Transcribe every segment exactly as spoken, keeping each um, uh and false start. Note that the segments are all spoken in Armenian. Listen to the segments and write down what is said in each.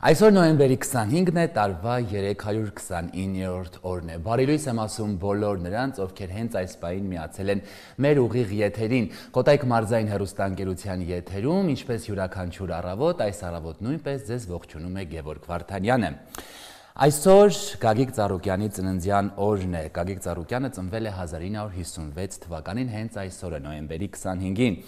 Այսօր նոյեմբերի քսանհինգն է, տարվա երեք հարյուր քսանիններորդ օրն է։ Բարի լույս եմ ասում բոլոր նրանց, ովքեր հենց այս պահին միացել են մեր ուղիղ եթերին։ Կոտայք մարզային հեռուստաընկերության եթերում, ինչպես յուրաքանչյուր առավոտ, այս առավոտ նույնպես ձեզ ողջունում է Գևորգ Վարդանյանը։ Այսօր Գագիկ Ծառուկյանի ծննդյան օրն է։ Գագիկ Ծառուկյանը ծնվել է հազար ինը հարյուր հիսունվեց թվականին, հենց այսօրը նոյեմբերի քսանհինգին։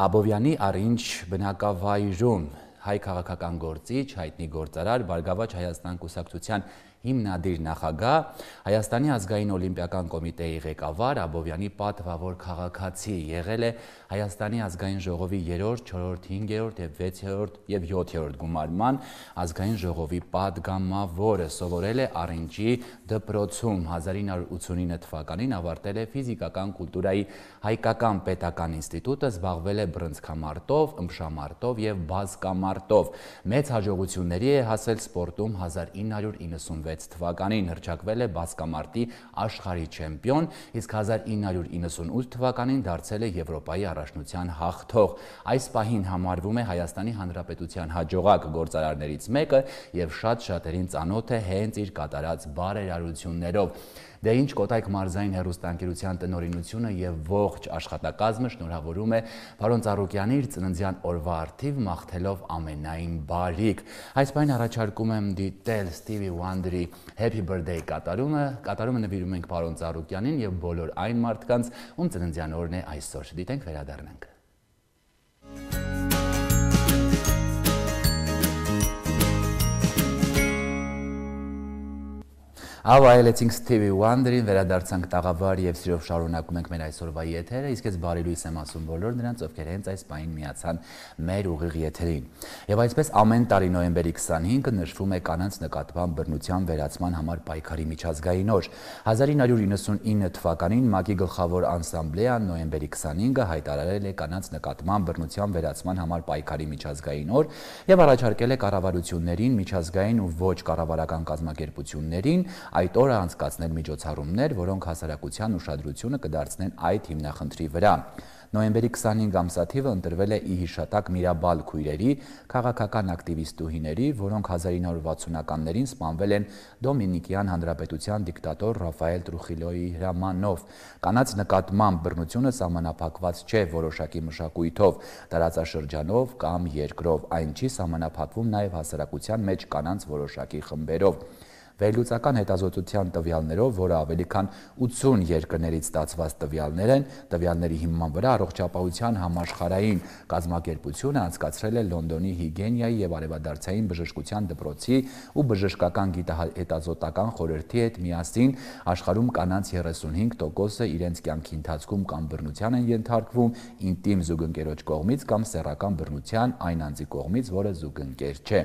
Աբովյանի առինջ բնակավայրում հայ քաղաքական գործիչ, հայտնի գործարար, Բարգավաճ Հայաստան կուսակցության հիմնադիր նախագահ, Հայաստանի ազգային օլիմպիական կոմիտեի ղեկավար, Աբովյանի պատվավոր քաղաքացի, եղել է Հայաստանի ազգային ժողովի երրորդ, չորրորդ, հինգերորդ և վեցերորդ և յոթերորդ գումարման ազգային ժողովի պատգամավորը, սովորել է Առինջի դպրոցում, հազար ինը հարյուր ութսունինը թվականին ավարտել է ֆիզիկական կուլտուրայի հայկական պետական ինստիտուտը, զբաղվել է բռնցքամարտով, ըմբշամարտով և բազկամարտով։ Մեծ հաջողությունների է հասել սպորտում հազար ինը հարյուր իննսունվեց թվականին, հռչակվել է բազկամարտի աշխարհի չեմպիոն, իսկ հազար ինը հարյուր իննսունութ թվականին դարձել է Եվրոպայի առաջնության հաղթող։ Այս պահին համարվում է Հայաստանի Հանրապետության հաջողակ գործարարներից մեկը և շատ շատերին ծանոթ է հենց իր կատարած բարերարություններով։ Դե ինչ, Կոտայք մարզային հեռուստաընկերության տնօրինությունը և ողջ աշխատակազմը շնորհավորում է պարոն Ծառուկյանի իր ծննդյան օրվա առթիվ մաղթելով ամենայն բարիք։ Այս պահին առաջարկում եմ դիտել Stevie Wonder-ի Happy Birthday կատարումը, կատարումը նվիրում ենք պարոն Ծառուկյանին և բոլոր այն մարդկանց, ում ծննդյան օրն է այսօր։ Դիտենք, վերադառնանք։ Ավայելեցինք Stevie Wonder-ին, վերադարձանք տաղավար և սիրով շարունակում ենք մեր այսօրվա եթերը, իսկ ես բարի լույս եմ ասում բոլոր նրանց, ովքեր հենց այս պահին միացան մեր ուղիղ եթերին։ Եվ այսպես ամեն տարի նոյեմբերի քսանհինգը նշվում է կանանց նկատմամբ բռնության վերացման համար պայքարի միջազգային օր։ հազար ինը հարյուր իննսունինը թվականին ՄԱԿ-ի գլխավոր ասամբլեան նոյեմբերի քսանհինգը հայտարարել է կանանց նկատմամբ բռնության վերացման համար պայքարի միջազգային օր և առաջարկել է կառավարություններին, միջազգային ու ոչ կառավարական կազմակերպություններին այդ օրը անցկացնել միջոցառումներ, որոնք հասարակության ուշադրությունը կդարձնեն այդ հիմնախնդրի վրա։ Նոյեմբերի քսանհինգ ամսաթիվը ընտրվել է ի հիշատակ Միրաբալ քույրերի, քաղաքական ակտիվիստուհիների, որոնք հազար ինը հարյուր վաթսունականներին սպանվել են Դոմինիկյան Հանրապետության դիկտատոր Ռաֆայել Տրուխիլոյի հրամանով։ Կանանց նկատմամբ բռնությունը սահմանափակված չէ որոշակի մշակույթով, տարածաշրջանով կամ երկրով, այն չի սահմանափակվում նաև հասարակության մեջ կանանց որոշակի խմբերով։ Վերլուծական հետազոտության տվյալներով, որը ավելի քան ութսուն երկրներից ստացված տվյալներ են, տվյալների հիման վրա Առողջապահության համաշխարհային կազմակերպությունը անցկացրել է Լոնդոնի Հիգիենայի և արևադարձային բժշկության դպրոցի ու բժշկական գիտահետազոտական խորհրդի հետ միասին աշխարհում կանանց երեսունհինգ տոկոսը իրենց կյանքի ընթացքում կամ բռնության են ենթարկվում ինտիմ զուգընկերոջ կողմից կամ սեռական բռնության այն անձի կողմից, որը զուգընկեր չէ։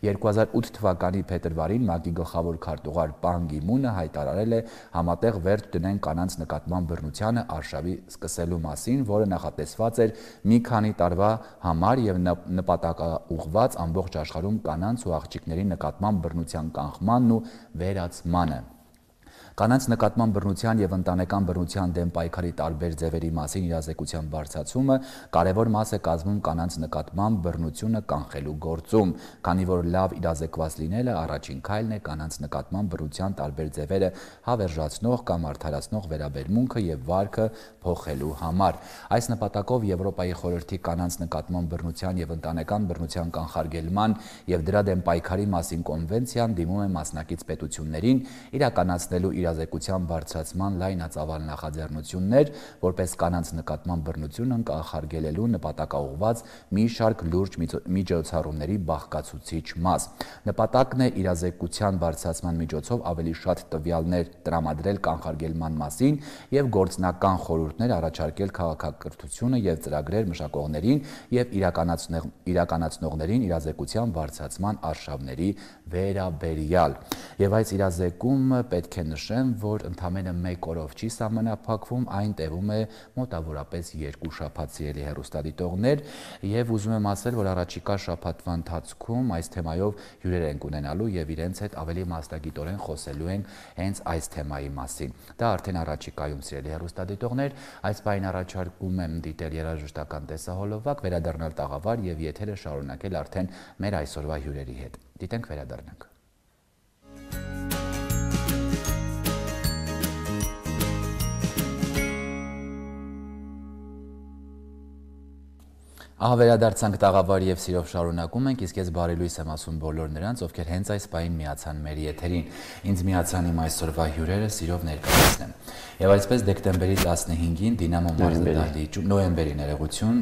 երկու հազար ութ թվականի փետրվարին ՄԱԿ-ի գլխավոր քարտուղար Պան Գի Մունը հայտարարել է համատեղ վերջ դնեն կանանց նկատմամբ բռնությանը արշավի սկսելու մասին, որը նախատեսված էր մի քանի տարվա համար և նպատակաուղղված ամբողջ աշխարհում կանանց ու աղջիկների նկատմամբ բռնության կանխմանն ու վերացմանը։ Կանանց նկատմամբ բռնության և ընտանեկան բռնության դեմ պայքարի տարբեր ձևերի մասին իրազեկության բարձրացումը կարևոր մաս է կազմում կանանց նկատմամբ բռնությունը կանխելու գործում, քանի որ լավ իրազեկված լինելը առաջին քայլն է կանանց նկատմամբ բռնության տարբեր ձևերը հավերժացնող կամ արդարացնող վերաբերմունքը և վարքը փոխելու համար։ Այս նպատակով Եվրոպայի խորհրդի կանանց նկատմամբ բռնության և ընտանեկան բռնության կանխարգելման և դրա դեմ պայքարի մասին կոնվենցիան դիմում է մասնակից պետություններին իրականացնելու իրազեկության բարձրացման լայնածավալ նախաձեռնություններ, որպես կանանց նկատմամբ բռնությունն կանխարգելելու նպատակաուղղված մի շարք լուրջ միջոցառումների բաղկացուցիչ մաս։ Նպատակն է իրազեկության բարձրացման միջոցով ավելի շատ տվյալներ տրամադրել կանխարգելման մասին և գործնական խորհուրդներ առաջարկել քաղաքակրթությունը և ծրագրեր մշակողներին և իրականացնողներին իրազեկության բարձրացման արշավների վերաբերյալ։ Եվ այս իրազեկումը պետք է նշեմ, նշեմ, որ ընդամենը մեկ օրով չի սահմանափակվում, այն տևում է մոտավորապես երկու շաբաթ սիրելի հեռուստադիտողներ, եւ ուզում եմ ասել, որ առաջիկա շաբաթվա ընթացքում այս թեմայով հյուրեր ենք ունենալու եւ իրենց հետ ավելի մասնագիտորեն խոսելու ենք հենց այս թեմայի մասին։ Դա արդեն առաջիկայում սիրելի հեռուստադիտողներ, այս բանին առաջարկում եմ դիտել երաժշտական տեսահոլովակ, վերադառնալ տաղավար եւ եթերը շարունակել արդեն մեր այսօրվա հյուրերի հետ։ Դիտենք, վերադառնանք։ Ահա վերադարձանք տաղավար եւ սիրով շարունակում ենք, իսկ ես բարի լույս եմ ասում բոլոր նրանց, ովքեր հենց այս պահին միացան մեր եթերին։ Ինձ միացան իմ այսօրվա հյուրերը, սիրով ներկայացնեմ։ Եվ այսպես դեկտեմբերի տասնհինգին Դինամո մարզադահլիճում, նոյեմբերի ներողություն,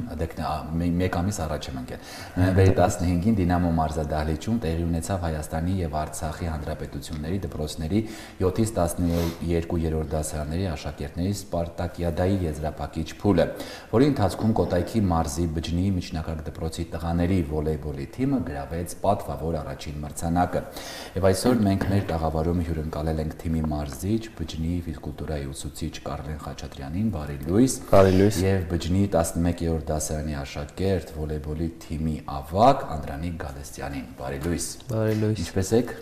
մեկ ամիս առաջ եմ ընկել։ Նոյեմբերի տասնհինգին Դինամո մարզադահլիճում տեղի ունեցավ Հայաստանի եւ Արցախի հանրապետությունների դպրոցների յոթից տասներկու դասարանների աշակերտների Սպարտակիադայի եզրափակիչ փուլը, որի ընթացքում Կոտայքի մարզի Բջնի միջնակարգ դպրոցի տղաների վոլեյբոլի թիմը գրավեց պատվավոր առաջին մրցանակը։ Եվ այսօր մենք մեր տաղավարում հյուրընկալել ենք թիմի մարզիչ Բջնի ֆիզկուլտուրայի ուսուցիչ Կարլեն Խաչատրյանին, բարի լույս, բարի լույս, եւ Բջնի տասնմեկերորդ դասարանի աշակերտ վոլեյբոլի թիմի ավագ Անդրանիկ Գալստյանին, բարի լույս։ Բարի լույս։ Ինչպե՞ս եք։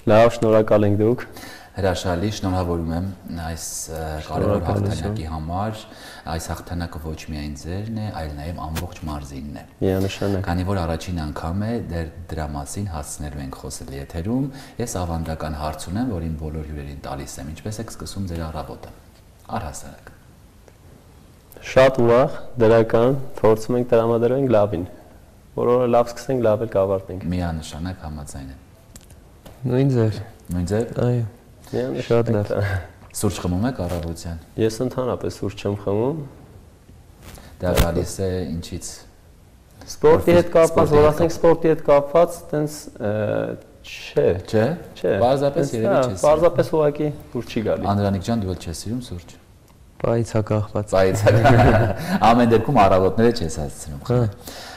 Լավ, շնորհակալ ենք դուք։ Հրաշալի, շնորհավորում եմ այս կարևոր հաղթանակի համար։ Այս հաղթանակը ոչ միայն ձերն է, այլ նաև ամբողջ մարզինն է։ Միանշանակ։ Քանի որ առաջին անգամ է դեռ դրա մասին հասցնելու ենք խոսել եթերում, ես ավանդական հարց ունեմ, որին բոլոր հյուրերին տալիս եմ։ Ինչպես եք սկսում ձեր առավոտը։ Առհասարակ։ Շատ ուրախ, դրական, փորձում ենք տրամադրենք լավին։ Որ օրը լավ սկսենք, լավ էլ կավարտենք։ Միանշանակ համաձայն եմ։ Նույն ձեր։ Նույն ձեր։ Այո։ Շատ լավ։ Սուրճ խմում եք առավոտյան։ Ես ընդհանրապես սուրճ չեմ խմում։ Դա գալիս է ինչից։ Սպորտի հետ կապված, որ ասենք սպորտի հետ կապված, տենց չէ։ Չէ։ Չէ։ Պարզապես երևի չես։ Պարզապես ուղղակի դուր չի գալի։ Անդրանիկ ջան, դու էլ չես սիրում սուրճ։ Պայից հակախված։ Պայից հակախված։ Ամեն դեպքում առավոտները չես հասցնում։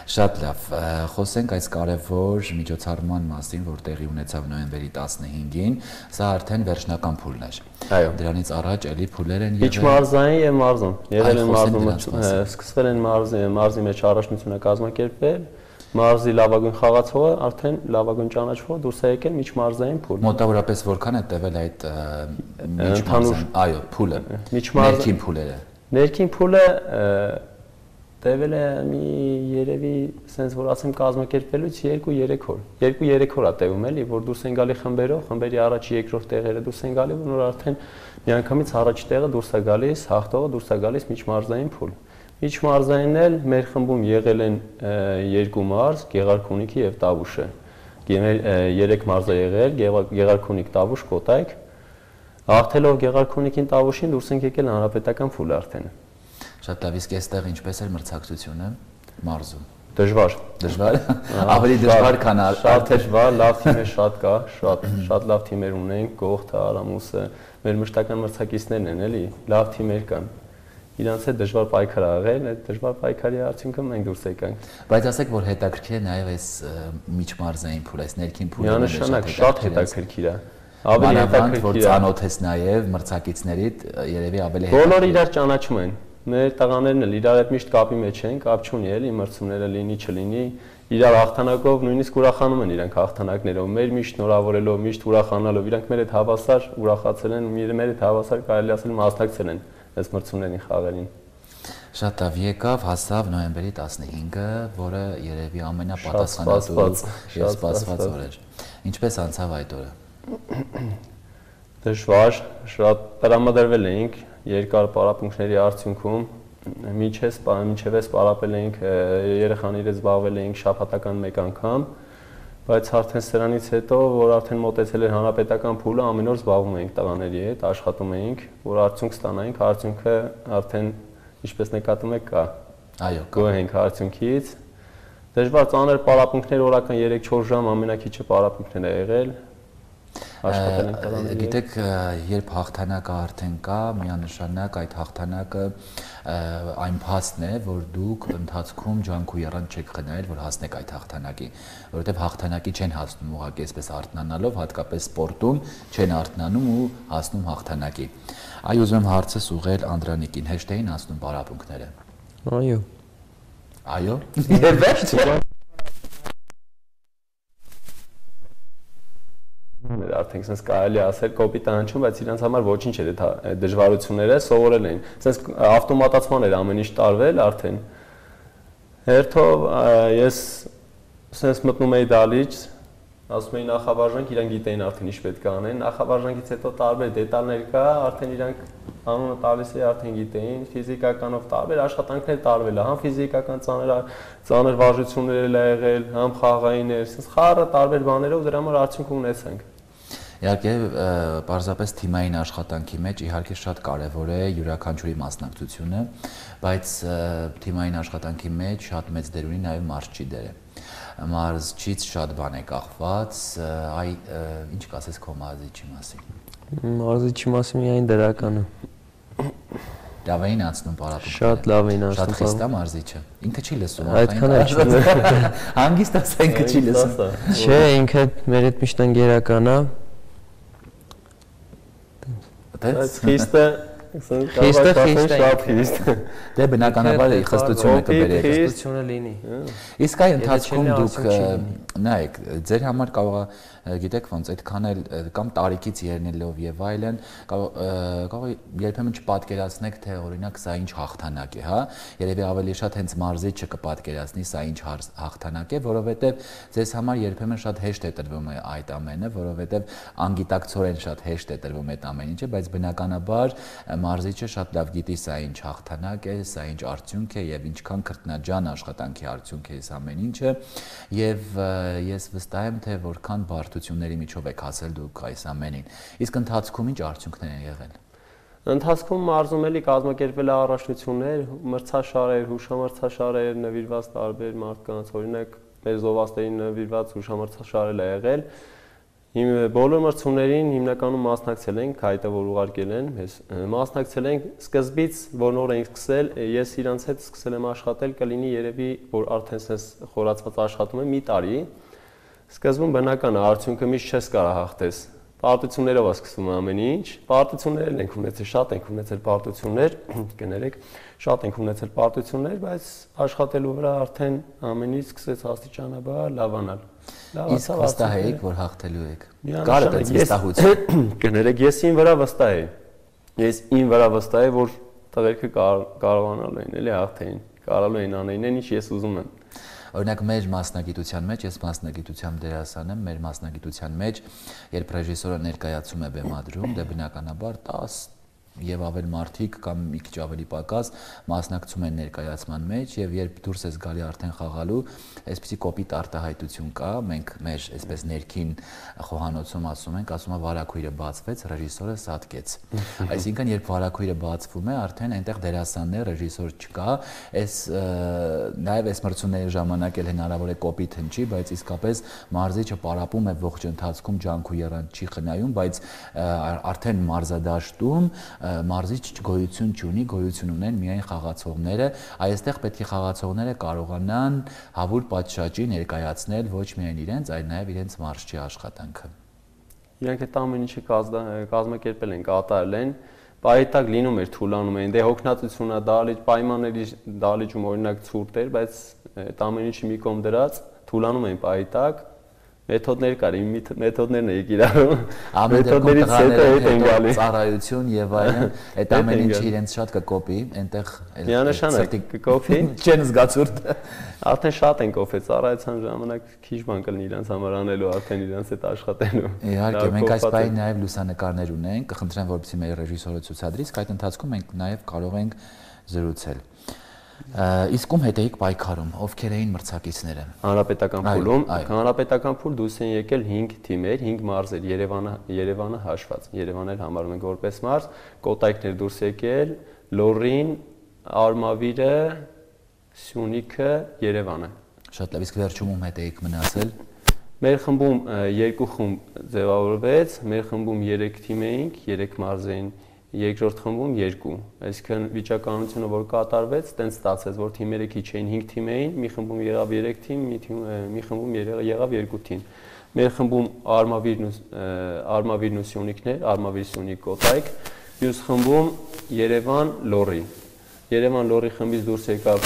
Շատ լավ, խոսենք այս կարևոր միջոցառման մասին, որ տեղի ունեցավ նոյեմբերի տասնհինգին, սա արդեն վերջնական փուլն էր։ Այո։ Դրանից առաջ էլի փուլեր են եղել։ Միջմարզային եւ մարզում։ Եղել են մարզում, սկսվել են մարզի, մարզի մեջ առաջնությունը կազմակերպվել, մարզի լավագույն խաղացողը, արդեն լավագույն ճանաչվողը դուրս է եկել միջմարզային փուլ։ Մոտավորապես որքան է տևել այդ միջմարզային, այո, փուլը։ Ներքին փուլերը։ Ներքին փուլը տևել է մի երևի sense որ ասեմ կազմակերպելուց երկու-երեք օր։ երկու-երեք օր է տևում էլի, որ դուրս են գալի խմբերով, խմբերի առաջ երկրորդ տեղերը դուրս են գալի, որ արդեն միանգամից առաջ տեղը դուրս է գալիս, հաղթողը դուրս է գալիս միջմարզային փուլ։ Միջմարզայինն էլ մեր խմբում եղել են երկու մարզ, Գեղարքունիքի եւ Տավուշը։ Երեք մարզ է եղել, Գեղարքունիք, Տավուշ, Կոտայք։ Հաղթելով Գեղարքունիքին, Տավուշին դուրս են եկել հանրապետական փուլ արդեն։ Շատ լավ, իսկ այստեղ ինչպես էր մրցակցությունը մարզում։ Դժվար։ Դժվար։ Ավելի դժվար, քան շատ դժվար, լավ թիմեր շատ կա, շատ շատ լավ թիմեր ունենք, Գողթը, Արամուսը, մեր մշտական մրցակիցներն են, էլի, լավ թիմեր կան։ Իրանց հետ դժվար պայքար ա եղել, այդ դժվար պայքարի արդյունքում մենք դուրս եկանք։ Բայց ասեք, որ հետաքրքիր է նաև այս միջմարզային փուլը, այս ներքին փուլը։ Միանշանակ շատ հետաքրքիր է։ Ավելի հետաքրքիր որ ծանոթես նաև մրցակիցներիդ երևի ավելի հետաքրքիր։ Բոլորը իրար ճանաչում են։ Մեր տղաներն էլ իրար հետ միշտ կապի մեջ են, կապ չունի էլի, մրցումները լինի, չլինի, իրար հաղթանակով նույնիսկ ուրախանում են իրանք հաղթանակներով, մեր միշտ շնորհավորելով, միշտ ուրախանալով, իրանք մեր հետ հավասար ուրախացել են, մեր հետ հավասար կարելի ասել մասնակցել են այս մրցումներին, խաղերին։ Շատ լավ, եկավ, հասավ նոյեմբերի տասնհինգը, որը երևի ամենապատասխանատու եւ սպասված օր էր։ Ինչպես անցավ այդ օրը։ Դժվար, շատ տրամադրվել էինք երկար պարապմունքների արդյունքում, մինչև էս պարապել էինք, երեխան իրենց զբաղվել էինք շաբաթական մեկ անգամ, բայց արդեն սրանից հետո, որ արդեն մոտեցել էր հանրապետական փուլը, ամեն օր զբաղվում էինք տղաների հետ, աշխատում էինք, որ արդյունք ստանայինք, արդյունքը արդեն ինչպես նկատում եք կա։ Այո, գոհ ենք արդյունքից։ Դժվար ծանր պարապմունքներ օրական երեք-չորս ժամ ամենակիչը պարապմունքներ է եղել։ աշխատել ենք տղաների։ Գիտեք, երբ հաղթանակը արդեն կա, միանշանակ այդ հաղթանակը այն փաստն է, որ դուք ընթացքում ջանք ու եռանդ չեք խնայել, որ հասնեք այդ հաղթանակի, որովհետև հաղթանակի չեն հասնում ուղղակի այսպես արթնանալով, հատկապես սպորտում չեն արթնանում ու հասնում հաղթանակի։ Այ ուզում եմ հարցս ուղղել Անդրանիկին, հեշտ էին անցնում պարապմունքները։ Այո։ Այո։ Եվ վերջ։ Արդեն sense կարելի ասել կոպիտ անջում, բայց իրանց համար ոչինչ էր այդ դժվարությունները, սովորել էին։ Sense ավտոմատացման էր ամեն ինչ տարվել արդեն։ Հերթով ես sense մտնում էի դալիճ, ասում էի նախավարժանք, իրանք գիտեին արդեն ինչ պետք է անեն։ Նախավարժանքից հետո տարբեր դետալներ կա, արդեն իրանք անունը տալիս էի, արդեն գիտեին, ֆիզիկականով տարբեր աշխատանքներ տարվել է, համ ֆիզիկական ծանր ծանր վարժություններ էլ եղել, համ խաղային էր, sense խառը տարբեր բաներով դրա համար արդյունք ունեցանք։ Իհարկե, պարզապես թիմային աշխատանքի մեջ իհարկե շատ կարևոր է յուրաքանչյուրի մասնակցությունը, բայց թիմային աշխատանքի մեջ շատ մեծ դեր ունի նաև մարզչի դերը։ Մարզչից շատ բան է կախված, այ ինչ կասես քո մարզչի մասին։ Մարզչի մասին միայն դրականը։ Լավ էին անցնում պարապմունքները։ Շատ լավ էին անցնում։ Շատ խիստ է մարզիչը։ Ինքը չի լսում։ Այդքան էլ չի։ Հանգիստ ասա ինքը չի լսում։ Չէ, ինքը մեր հետ միշտ ընկերական է։ Բայց խիստը խիստը շատ խիստ։ Դե բնականաբար խստությունը կբերեք։ Խստությունը լինի։ Իսկ այ ընթացքում դուք նայեք, ձեր համար կարող է գիտեք ոնց այդքան էլ կամ տարիքից ելնելով եւ այլն կարող է երբեմն չպատկերացնեք թե օրինակ սա ինչ հաղթանակ է, հա, երևի ավելի շատ հենց մարզիչը կպատկերացնի սա ինչ հաղթանակ է, որովհետեւ ձեզ համար երբեմն շատ հեշտ է տրվում այդ ամենը, որովհետեւ անգիտակցորեն շատ հեշտ է տրվում այդ ամեն ինչը, բայց բնականաբար մարզիչը շատ լավ գիտի սա ինչ հաղթանակ է, սա ինչ արդյունք է եւ ինչքան քրտնաջան աշխատանքի արդյունք է այս ամեն ինչը եւ ես վստահ եմ թե որքան բարդությունների միջով եք հասել դուք այս ամենին։ Իսկ ընթացքում ինչ արդյունքներ են եղել։ Ընթացքում մարզում էլի կազմակերպվել առաշնություններ, մրցաշարեր, հուշամրցաշարեր, նվիրված տարբեր մարդկանց, օրինակ մեր զովասներին նվիրված հուշամրցաշար է եղել։ Իմ բոլոր մրցումներին հիմնականում մասնակցել ենք, հայտը որ ուղարկել են, մեզ մասնակցել ենք սկզբից, որ նոր ենք սկսել, ես իրանց հետ սկսել եմ աշխատել, կլինի երևի, որ արդեն sense խորացված աշխատում եմ մի տարի։ Սկզբում բնական է, արդյունքը միշտ չես կարող հաղթես։ Պարտություններով է սկսվում ամեն ինչ։ Պարտություններ ենք ունեցել, շատ ենք ունեցել պարտություններ, կներեք, շատ ենք ունեցել պարտություններ, բայց աշխատելու վրա արդեն ամեն ինչ սկսեց աստիճանաբար լավանալ։ Իսկ վստահ եք, որ հաղթելու եք։ Կարդ է վստահություն։ Կներեք, ես ին վրա վստահ եմ։ Ես ին վրա վստահ եմ, որ տղերքը կարողանալու են, էլի հաղթեին, կարողանալու են անեին, ինչ ես ուզում եմ։ Օրինակ մեր մասնագիտության մեջ, ես մասնագիտությամբ դերասան եմ, մեր մասնագիտության մեջ, երբ ռեժիսորը ներկայացում է բեմադրում, դե բնականաբար տասը եւ ավել մարդիկ կամ մի քիչ ավելի պակաս մասնակցում են ներկայացման մեջ եւ երբ դուրս ես գալի արդեն խաղալու, այսպեսի կոպիտ արտահայտություն կա, մենք մեր այսպես ներքին խոհանոցում ասում ենք, ասում է վարակույրը բացվեց, ռեժիսորը սատկեց։ Այսինքն երբ վարակույրը բացվում է, արդեն այնտեղ դերասանն է, ռեժիսոր չկա, այս նաեւ այս մրցումների ժամանակ էլ հնարավոր է կոպիտ հնչի, բայց իսկապես մարզիչը պարապում է ողջ ընթացքում ջանք ու եռանդ չի խնայում, բայց արդեն մարզադաշտում մարզիչ գոյություն չունի, գոյություն ունեն միայն խաղացողները, այստեղ պետք է խաղացողները կարողանան հավուր պատշաճի ներկայացնել ոչ միայն իրենց, այլ նաև իրենց մարզչի աշխատանքը։ Իրանք այդ ամեն ինչը կազմակերպել են, կատարել են, պայտակ լինում էր, թուլանում էին, դե հոգնածությունա դալիճ, պայմանների դալիճում օրինակ ցուրտ էր, բայց այդ ամեն ինչը մի կողմ դրած, թուլանում էին պայտակ, մեթոդներ կար, իմ մեթոդներն էի կիրառում։ Մեթոդներից հետո հետ են գալի։ Ծառայություն եւ այլն, այդ ամեն ինչը իրենց շատ կկոպի, այնտեղ միանշանակ կկոպի, չեն զգացուրդ։ Արդեն շատ են կոփել, ծառայության ժամանակ քիչ բան կլինի իրենց համար անելու, արդեն իրենց հետ աշխատելու։ Իհարկե, մենք այս պահին նաեւ լուսանկարներ ունենք, կխնդրեմ որպեսզի մեր ռեժիսորը ցուցադրի, իսկ այդ ընթացքում մենք նաեւ կարող ենք զրուցել։ Իսկ ում հետ էիք պայքարում, ովքեր էին մրցակիցները։ Հանրապետական փուլում, հանրապետական փուլ դուրս են եկել հինգ թիմեր, հինգ մարզեր, Երևանը, Երևանը հաշված։ Երևանը էլ համարում ենք որպես մարզ, Կոտայքներ դուրս եկել, Լոռին, Արմավիրը, Սյունիքը, Երևանը։ Շատ լավ, իսկ վերջում ում հետ էիք մնացել։ Մեր խմբում երկու խումբ ձևավորվեց, մեր խմբում երեք թիմ էինք, երեք մարզ էին, երկրորդ խմբում երկու։ Այսինքն վիճակականությունը որ կատարվեց, տենց ստացեց, որ թիմերը քիչ էին, հինգ թիմ էին, մի խմբում եղավ երեք թիմ, մի թիմ մի խմբում եղավ երկու թիմ։ Մեր խմբում Արմավիրն Արմավիրն ու Սյունիքներ, Արմավիր Սյունիք Կոտայք, մյուս խմբում Երևան Լոռի։ Երևան Լոռի խմբից դուրս եկավ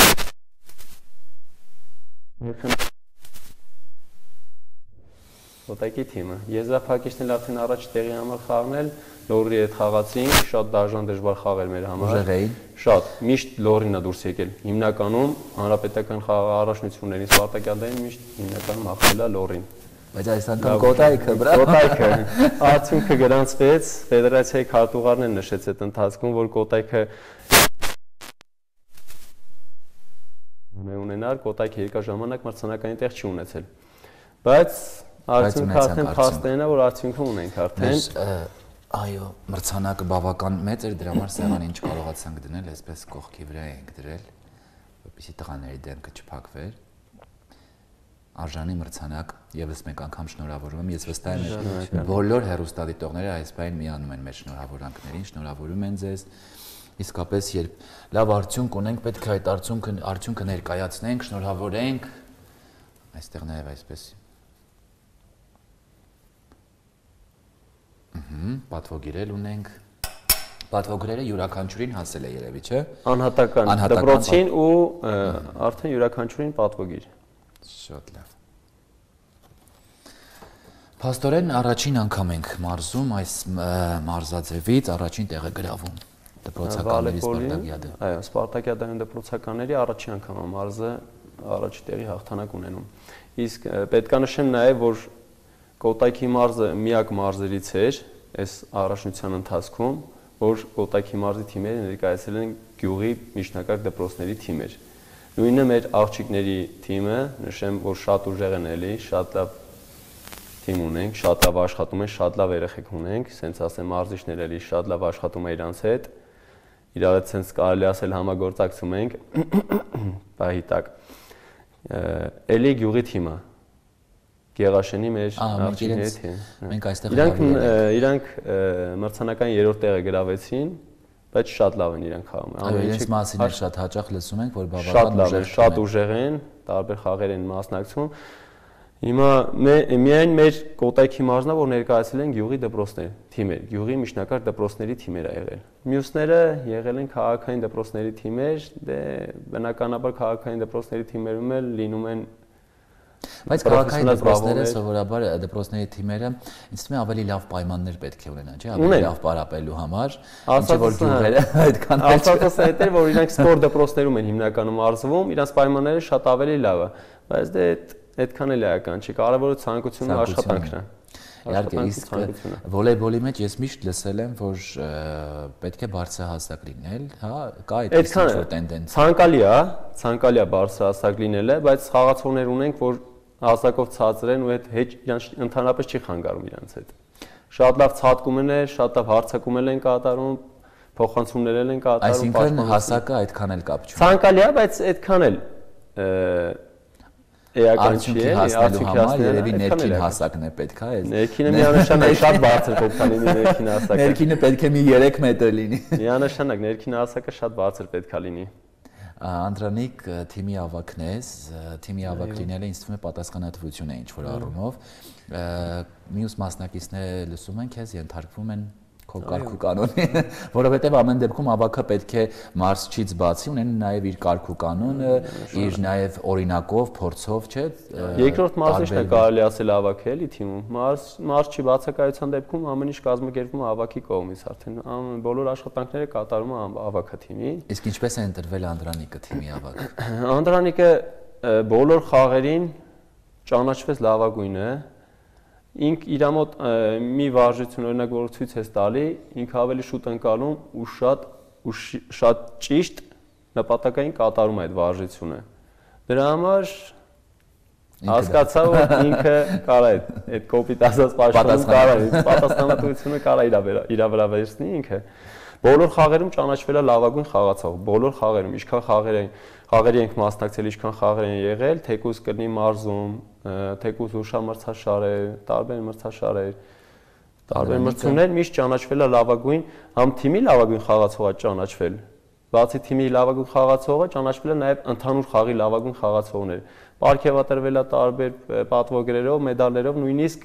Կոտայքի թիմը։ Եզրափակիչն էլ արդեն առաջ տեղի համար խաղնել, Լոռի հետ խաղացինք, շատ դաժան դժվար խաղ էր մեր համար։ Ուժեղ էին։ Շատ, միշտ Լոռին է դուրս եկել։ Հիմնականում հանրապետական խաղառաշնություններին Սպարտակիադային միշտ հիմնականում հաղթել է Լոռին։ Բայց այս անգամ Կոտայքը, բրա։ Կոտայքը արդյունքը գրանցվեց, ֆեդերացիայի քարտուղարն էլ նշեց այդ ընթացքում, որ Կոտայքը ունենար, Կոտայքը երկար ժամանակ մրցանակային տեղ չի ունեցել։ Բայց արդյունքը արդեն փաստերն է, որ արդյունքը ունենք արդեն։ Այո, մրցանակը բավական մեծ էր, դրա համար սեղանին չկարողացանք դնել, այսպես կողքի վրա էինք դրել, որպեսզի տղաների դեմքը չփակվեր։ Արժանի մրցանակ, եւս մեկ անգամ շնորհավորում եմ, ես վստահ եմ բոլոր հեռուստադիտողները այս բան միանում են մեր շնորհավորանքներին, շնորհավորում են ձեզ։ Իսկապես երբ լավ արդյունք ունենք, պետք է այդ արդյունքը արդյունքը ներկայացնենք, շնորհավորենք։ Այստեղ նաեւ այսպես Ահա, պատվոգիրել ունենք։ Պատվոգիրերը յուրաքանչյուրին հասել է երևի, չէ՞։ Անհատական դպրոցին ու արդեն յուրաքանչյուրին պատվոգիր։ Շատ լավ։ Փաստորեն առաջին անգամ ենք մարզում այս մարզաձևից առաջին տեղը գրավում։ Դպրոցականների Սպարտակիադը։ Այո, Սպարտակիադային դպրոցականների առաջին անգամ մարզը առաջի տեղի հաղթանակ ունենում։ Իսկ պետք է նշեմ նաև, որ Կոտայքի մարզը միակ մարզերից էր այս առաջնության ընթացքում, որ Կոտայքի մարզի թիմերը ներկայացել են գյուղի միջնակարգ դպրոցների թիմեր։ Նույնը մեր աղջիկների թիմը, նշեմ, որ շատ ուժեղ են էլի, շատ լավ թիմ ունենք, շատ լավ աշխատում են, շատ լավ երեխեք ունենք, սենց ասեմ մարզիչներ էլի շատ լավ աշխատում են իրանց հետ, իրար հետ սենց կարելի ասել համագործակցում ենք, պահի տակ։ Էլի գյուղի թիմը Գեղաշենի մեր աղջիկների թիմ։ Մենք այստեղ իրանք իրանք մրցանակային երրորդ տեղը գրավեցին, բայց շատ լավ են իրանք խաղում։ Այո, իրենց մասին էլ շատ հաճախ լսում ենք, որ բավական ուժեղ, շատ ուժեղ են, տարբեր խաղեր են մասնակցում։ Հիմա միայն մեր Կոտայքի մարզնա, որ ներկայացել են գյուղի դպրոցներ, թիմեր, գյուղի միջնակարգ դպրոցների թիմեր ա եղել։ Մյուսները եղել են քաղաքային դպրոցների թիմեր, դե բնականաբար քաղաքային դպրոցների թիմերում էլ լինում են Բայց քաղաքային դպրոցները սովորաբար դպրոցների թիմերը ինձ թվում է ավելի լավ պայմաններ պետք է ունենան, չէ՞, ավելի լավ պարապելու համար, ինչը որ գյուղերը այդքան էլ չէ։ Ասածս այդ էր, որ իրանք սպորտ դպրոցներում են հիմնականում արզվում, իրանք պայմանները շատ ավելի լավ է, բայց դե այդքան էլ էական չի, կարևորը ցանկությունն ու աշխատանքն է։ Իհարկե, իսկ վոլեյբոլի մեջ ես միշտ լսել եմ, որ պետք է բարձրահասակ լինել, հա, կա այդպես ինչ-որ տենդենս։ Ցանկալի է, ցանկալի է բարձրահասակ լինելը, բայց խաղացողներ ունենք, որ հասակով ցածր են ու այդ հեչ իրանց ընդհանրապես չի խանգարում իրանց հետ։ Շատ լավ ցատկում են, շատ լավ հարցակում են կատարում, փոխանցումներ են կատարում։ Այսինքն հասակը այդքան էլ կապ չունի։ Ցանկալի է, բայց այդքան էլ էական չի, արդյունքի համար երևի ներքին հասակն է պետք է։ Ներքինը միանշանակ շատ բարձր պետք է լինի ներքին հասակը։ Ներքինը պետք է մի երեք մետր լինի։ Միանշանակ ներքին հասակը շատ բարձր պետք է լինի։ Անդրանիկ թիմի ավակն ես, թիմի ավակ լինելը ինձ թվում է պատասխանատվություն է ինչ-որ առումով։ Մյուս մասնակիցները լսում են քեզ, ենթարկվում են քո կարգ ու կանոնի, որովհետև ամեն դեպքում ավակը պետք է մարզչից բացի ունեն նաև իր կարգ ու կանոնը, իր նաև օրինակով, փորձով, չէ՞։ Երկրորդ մարզիչն է կարելի ասել ավակ է էլի թիմում։ Մարզչի բացակայության դեպքում ամեն ինչ կազմակերպվում է ավակի կողմից, արդեն բոլոր աշխատանքները կատարում է ավակը թիմի։ Իսկ ինչպես է ընտրվել Անդրանիկը թիմի ավակ։ Անդրանիկը բոլոր խաղերին ճանաչվեց լավագույնը։ Ինք իր մոտ մի վարժություն օրինակ որ ցույց է տալի, ինքը ավելի շուտ ընկալում ու շատ ու շատ ճիշտ նպատակային կատարում է այդ վարժությունը։ Դրա համար հասկացա որ ինքը կարա այդ կոպիտ ասած պաշտոնում կարա պատասխանատվությունը կարա իր վրա վերցնի ինքը։ Բոլոր խաղերում ճանաչվել է լավագույն խաղացող, բոլոր խաղերում, ինչքան խաղեր են, խաղերի ենք մասնակցել, ինչքան խաղեր են եղել, թեկուզ կրնի մարզում, թեկուզ հուշամրցաշարեր, տարբեր մրցաշարեր, տարբեր մրցումներ միշտ ճանաչվել է լավագույն, համ թիմի լավագույն խաղացողը ճանաչվել, բացի թիմի լավագույն խաղացողը ճանաչվել է նաև ընդհանուր խաղի լավագույն խաղացողներ։ Պարգևատրվել է տարբեր պատվոգրերով, մեդալներով, նույնիսկ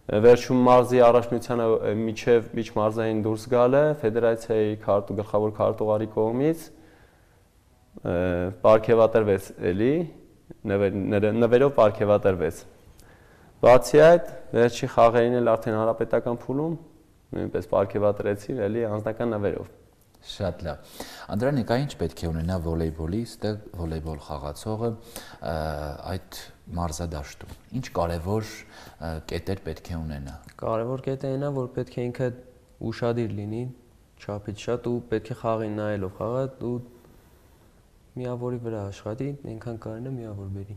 վերջում մարզի առաջնությանը միջև միջմարզային դուրս գալը ֆեդերացիայի քարտու գլխավոր քարտուղարի կողմից պարգևատրվեց էլի, նվերով պարգևատրվեց։ Բացի այդ, վերջի խաղերին էլ արդեն հանրապետական փուլում նույնպես պարգևատրեցի էլի անձնական նվերով։ Շատ լավ։ Անդրանիկ, ինչ պետք է ունենա վոլեյբոլի, ստեղ վոլեյբոլ խաղացողը այդ մարզադաշտում։ Ինչ կարևոր կետեր պետք է ունենա։ Կարևոր կետը այն է, որ պետք է ինքը ուշադիր լինի, չափից շատ ու պետք է խաղին նայելով խաղա ու միավորի վրա աշխատի, այնքան կարողանա միավոր բերի։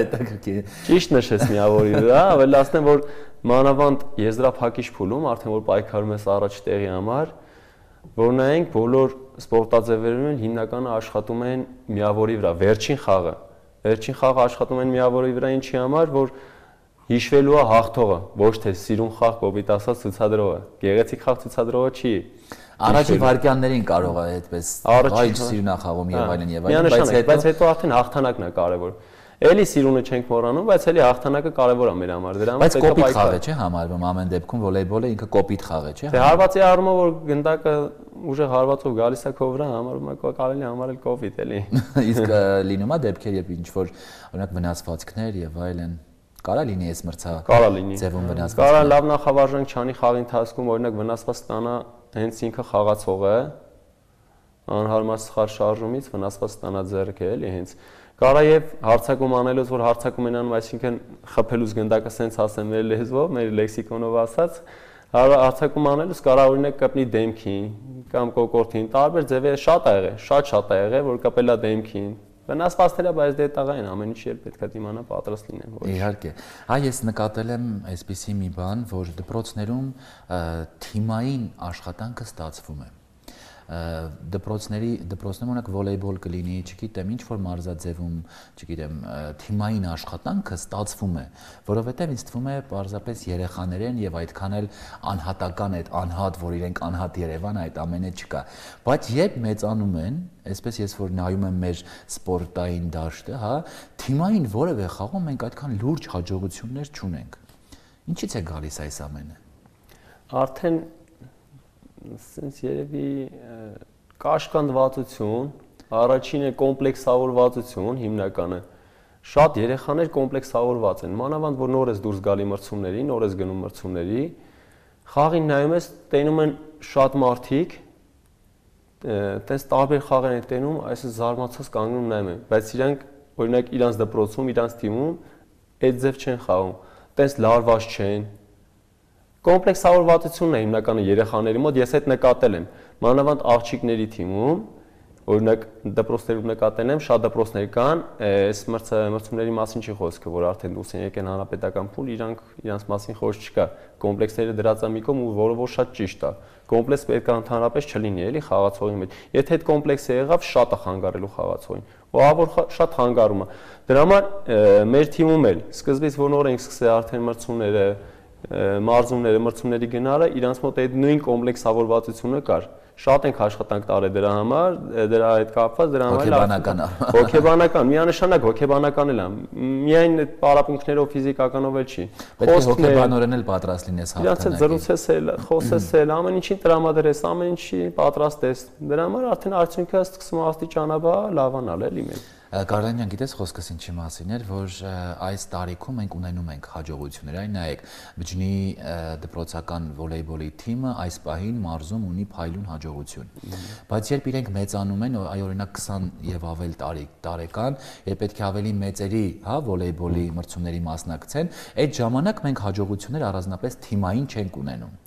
Հետաքրքիր։ Ճիշտ նշեց միավորի վրա, ավելացնեմ, որ մանավանդ եզրափակիչ փուլում, արդեն որ պայքարում ես առաջ տեղի համար, որ նայենք բոլոր սպորտաձևերում հիմնականը աշխատում են միավորի վրա, վերջին խաղը։ Վերջին խաղը աշխատում են միավորի վրա ինչի համար, որ հիշվելու է հաղթողը, ոչ թե սիրուն խաղ կոպիտ ասած ցուցադրողը։ Գեղեցիկ խաղ ցուցադրողը չի։ Առաջի վարկյաններին կարող է այդպես այլ սիրունա խաղում եւ այլն եւ այլն, բայց հետո բայց հետո արդեն հաղթանակն է կարևոր։ Էլի սիրունը չենք մոռանում, բայց էլի հաղթանակը կարևոր է մեր համար։ Դրա համար պետք է կոպիտ խաղ է, չէ՞ համարվում ամեն դեպքում վոլեյբոլը ինքը կոպիտ խաղ է, չէ՞։ Դե հարվածի առումով որ գնդակը ուժեղ հարվածով գալիս է քո վրա, համարվում է կարելի համարել կոպիտ էլի։ Իսկ լինում է դեպքեր, երբ ինչ որ օրինակ վնասվածքներ եւ այլն կարա լինի այս մրցա։ Կարա լինի։ Ձևում վնասված։ Կարա լավ նախավարժանք չանի խաղի ընթացքում օրինակ վնասված ստանա հենց ինքը խաղացողը անհարմար սխալ շարժումից վնասված ստանա ձեռքը էլի հենց կարա եւ հարցակում անելուց որ հարցակում են անում այսինքն խփելուց գնդակը սենց ասեմ մեր լեզվով մեր լեքսիկոնով ասած հարցակում անելուց կարա օրինակ կպնի դեմքին կամ կոկորտին տարբեր ձևեր շատ ա եղել շատ շատ ա եղել որ կպելա դեմքին վնասվածքները բայց դե տաղ են ամեն ինչ էլ պետք է դիմանա պատրաստ լինեն ոչ իհարկե հա ես նկատել եմ այսպիսի մի բան որ դպրոցներում թիմային աշխատանքը ստացվում է դպրոցների դպրոցներում օրինակ վոլեյբոլ կլինի, չգիտեմ, ինչ որ մարզաձևում, չգիտեմ, թիմային աշխատանքը ստացվում է, որովհետև ինձ թվում է պարզապես երեխաներ են եւ այդքան էլ անհատական այդ անհատ, որ իրենք անհատ Երևան այդ ամենը չկա։ Բայց երբ մեծանում են, այսպես ես որ նայում եմ մեր սպորտային դաշտը, հա, թիմային որևէ խաղում մենք այդքան լուրջ հաջողություններ չունենք։ Ինչից է գալիս այս ամենը։ Արդեն Սենց երևի կաշկանդվածություն, առաջինը կոմպլեքսավորվածություն հիմնականը։ Շատ երեխաներ կոմպլեքսավորված են, մանավանդ որ նոր ես դուրս գալի մրցումների, նոր ես գնում մրցումների, խաղին նայում ես, տենում են շատ մարդիկ, տես տարբեր խաղեր են տենում, այսպես զարմացած կանգնում նայում են, բայց իրանք օրինակ իրանց դպրոցում, իրանց թիմում այդ ձև չեն խաղում, տես լարված չեն։ Կոմպլեքսավորվածությունն է հիմնականը երեխաների մոտ, ես այդ նկատել եմ, մանավանդ աղջիկների թիմում, օրինակ դպրոցներում նկատել եմ, շատ դպրոցներ կան, այս մրցումների մասին չի խոսքը, որ արդեն դուրս են եկել հանրապետական փուլ, իրանք իրանց մասին խոսք չկա, կոմպլեքսները դրած է մի կողմ ու որը որ շատ ճիշտ է, կոմպլեքս պետք է ընդհանրապես չլինի, էլի խաղացողի մեջ, եթե այդ կոմպլեքսը եղավ, շատ է խանգարելու խաղացողին, ու ավոր շատ խանգարում է, դրա համար մեր թիմում էլ սկզբից որ նոր ենք սկսել արդեն մրցումները մարզումները, մրցումների գնալը, իրանց մոտ այդ նույն կոմպլեքսավորվածությունը կար։ Շատ ենք աշխատանք տարել դրա համար, դրա հետ կապված, դրա համար հոգեբանական հոգեբանական, միանշանակ հոգեբանական էլ է։ Միայն այդ պարապմունքներով ֆիզիկականով էլ չի։ Պետք է հոգեբանորեն էլ պատրաստ լինես հաղթանակի։ Իրանց հետ զրուցես էլ, խոսես էլ, ամեն ինչին տրամադրես, ամեն ինչի պատրաստ ես։ Դրա համար արդեն արդյունքը սկսում է աստիճանաբար լավանալ էլի մենք։ Կարլանյան, գիտես խոսքս ինչի մասին էր, որ այս տարիքում մենք ունենում ենք հաջողություններ, այն նայեք, Բջջնի դպրոցական վոլեյբոլի թիմը այս պահին մարզում ունի փայլուն հաջողություն։ Բայց երբ իրենք մեծանում են, այ օրինակ քսան եւ ավել տարի տարեկան, երբ պետք է ավելի մեծերի, հա, վոլեյբոլի մրցումների մասնակցեն, այդ ժամանակ մենք հաջողություններ առանձնապես թիմային չենք ունենում։